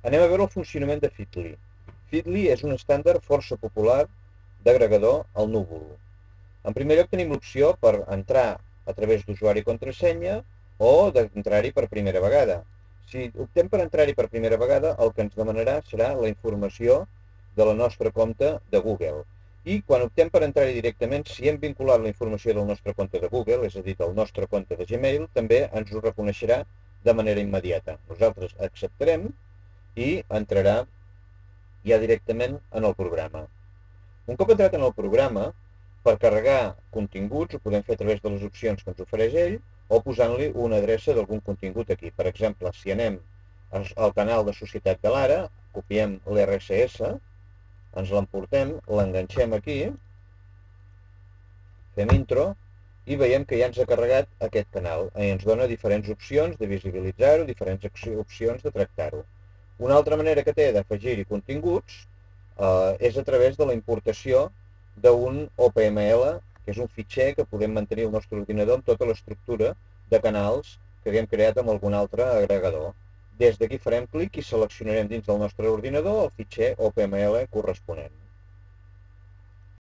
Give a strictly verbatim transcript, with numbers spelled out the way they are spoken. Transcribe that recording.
Anem a veure el funcionament de Feedly. Feedly és un estàndard força popular d'agregador al núvol. En primer lloc tenim l'opció per entrar a través d'usuari i contrasenya o d'entrar-hi per primera vegada. Si optem per entrar-hi per primera vegada, el que ens demanarà serà la informació de la nostra compte de Google. I quan optem per entrar-hi directament, si hem vinculat la informació del nostre compte de Google, és a dir, del nostre compte de Gmail, també ens ho reconeixerà de manera immediata. Nosaltres acceptarem i entrarà ja directament en el programa. Un cop entrat en el programa, per carregar continguts ho podem fer a través de les opcions que ens ofereix ell o posant-li una adreça d'algun contingut aquí. Per exemple, si anem al canal de Societat de l'Ara, copiem l'R S S, ens l'emportem, l'enganxem aquí, fem intro i veiem que ja ens ha carregat aquest canal i ens dona diferents opcions de visibilitzar-ho, diferents opcions de tractar-ho. Una altra manera que té d'afegir-hi continguts eh, és a través de la importació d'un O P M L, que és un fitxer que podem mantenir al nostre ordinador amb tota l'estructura de canals que haguem creat amb algun altre agregador. Des d'aquí farem clic i seleccionarem dins del nostre ordinador el fitxer O P M L corresponent.